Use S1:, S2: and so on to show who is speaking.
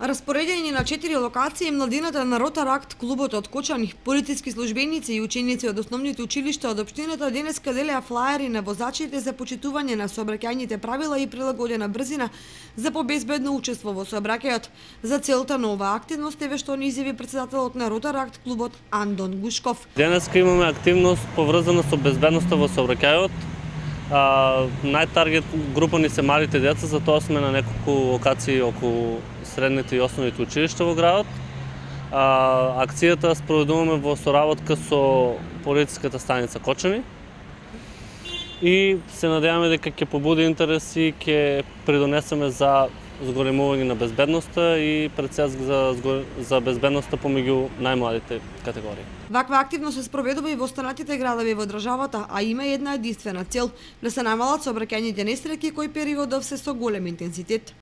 S1: Распоредени на 4 локации, младината на Ротаракт, клубот од Кочани, полициски службеници и ученици од основните училишта од општината денеска делеа флаери на возачите за почитување на сообраќајните правила и прилагодена брзина за побезбедно учество во сообраќајот. За целта на оваа активност еве што ни изјави председателот на Ротаракт клубот Андон Гушков.
S2: Денеска имаме активност поврзана со безбедноста во сообраќајот. Најтаргет група ни се малите деца, затоа сме на неколку локации околу средните и основните училишта во градот. Акцијата спроведуваме во соработка со полициската станица Кочани и се надеваме дека ќе побуди интерес и ќе придонесеме за зголемување на безбедноста и пред се за безбедноста помеѓу најмладите категории.
S1: Ваква активност се спроведува и во останатите градови во државата, а има една единствена цел – да се намалат сообраќајните несреќи кои периодов се со голем интензитет.